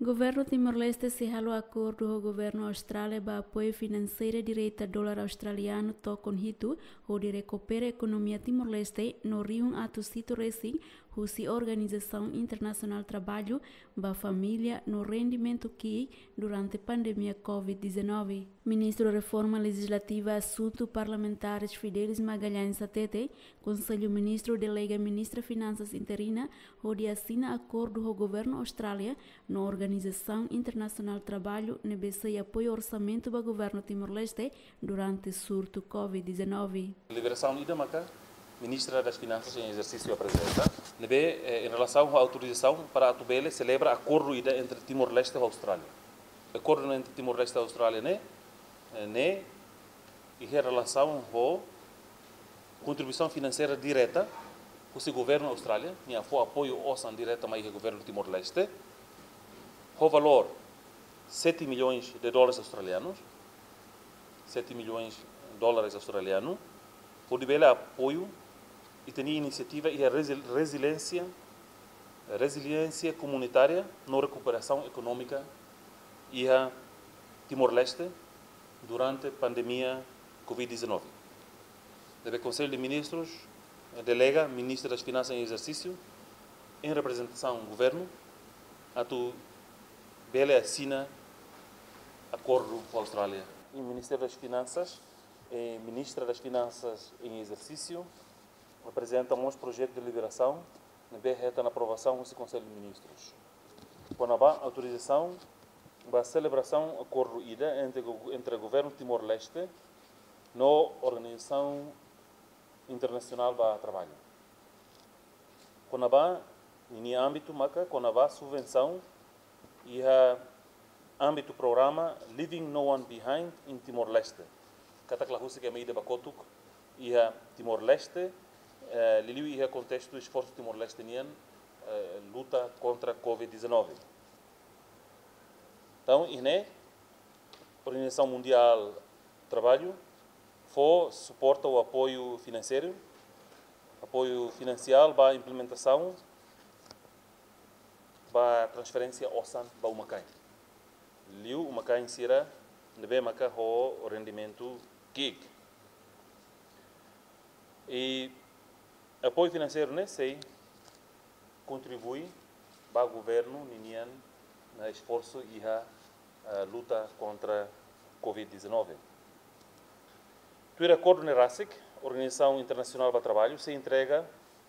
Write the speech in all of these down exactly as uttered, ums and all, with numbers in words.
Governu Timor-Leste sei halo akordu ho governu Austrália ba apoiu finanseira direta dolar australianu tokon hitu, hodi rekupera ekonomia Timor-Leste no rihun atus hitu resin husi Organizasaun Internasionál Traballu ba Família no Rendimentu ki'ik durante pandemia covid dezanove. Ministru Reforma Lejizlativa Asuntu Parlamentares Fidelis Magalhães hatete, Konsellu Ministru delega Ministra Finansas interina hodi asina akordu ho governu Austrália no Organizasaun Internasionál Traballu ne'ebé sei apoiu orsamentu ba governu Timor-Leste durante surtu covid dezanove. Liberasaun ida maka Ministra das Finansas em exercício aprezenta, ne'ebé, eh, em relação à autorização para atu bele selebra akordu ida entre Timor-Leste ho Austrália. Akordu entre Timor-Leste ho Austrália ne'e, eh, ne'e iha relasaun ho kontribuisaun finanseira direta husi governu Austrália, nia fó apoiu osan direta mai iha governu Timor-Leste, ho valór sete milhões de dólares australianos, sete milhões dólares australianos, hodi bele apoiu ita-nia inisiativa iha resi-, reziliénsia, reziliénsia komunitária no rekuperasaun ekonómika iha Timor-Leste durante pandemia covid dezanove. Ne'ebé Konsellu de Ministrus, eh, delega Ministra das Finansas em exercício, em representasaun governu, atu bele asina akordu ho Austrália. E Ministério das Finansas, eh, Ministra das Finansas em exercício, aprezenta mós projetu de liberasaun ne'ebé hetan aprovasaun husi Konsellu de Ministrus. Kona-ba autorizasaun ba selebrasaun akordu ida entre go-, entre governu Timor-Leste no Organizasaun Internasionál ba Traballu. Kona-ba ninia ámbitu maka kona-ba subvensaun iha ámbitu programa Leaving No One Behind in Timor-Leste. Katak la husik ema ida ba kotuk iha Timor-Leste, eh, liuliu iha kontestu esforsu Timor-Leste nian, eh, luta kontra covid dezanove. Entaun, iha ne'e, Organizasaun Mundiál Traballu fó suporta ou apoiu finanseiru, apoiu finansiál ba implementasaun, ba transferénsia osan ba uma-kain. Liu uma-kain sira ne'ebé maka ho rendimentu ki'ik. I apoiu finanseiru ne'e sei kontribui ba governu ninian esforsu iha, eh, luta kontra covid dezanove. Tuir akordu ne'e rasik, Organizasaun Internasionál ba Traballu sei entrega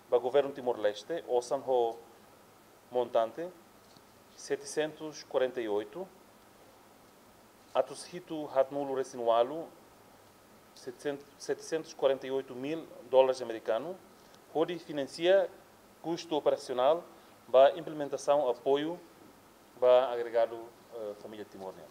ba governu Timor-Leste osan ho montante setecentos e quarenta e oito, atus hitu haatnulu resin ualu, setecentos, setecentos e quarenta e oito mil dólares americano, hodi finansia kustu operasionál ba implementasaun apoiu ba agregadu, eh, família Timor nian.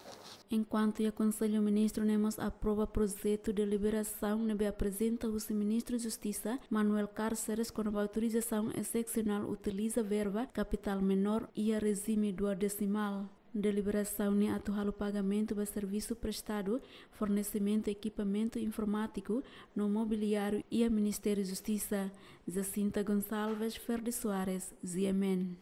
Enkuantu iha Konsellu, Ministru ne'e mós aprova projetu de liberasaun ne'ebé aprezenta husi Ministru Justisa, Manuel Cárceres, kona-ba autorizasaun esepsionál utiliza verba kapitál menór iha rejime duodesimál. Deliberasaun ne'e atu halo pagamentu ba servisu prestadu, fornesimentu ekipamentu informátiku no mobiliáriu iha Ministériu Justisa. Jacinta Gonçalves, Ferdi Soares, G M N.